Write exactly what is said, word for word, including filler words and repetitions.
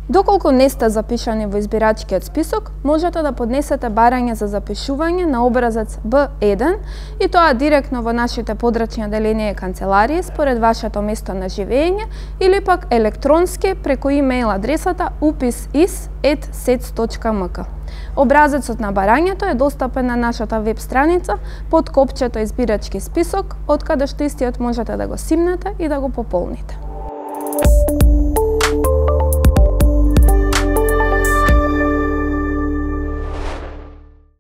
Доколку не сте запишани во избирачкиот список, можете да поднесете барање за запишување на образец Б еден и тоа директно во нашите подрачни оделенија и канцеларии според вашето место на живење или пак електронски преку имејл адресата упис-из ет сец точка ем ка. Образецот на барањето е достапен на нашата веб страница под копчето избирачки список, од каде што истиот можете да го симнете и да го пополните.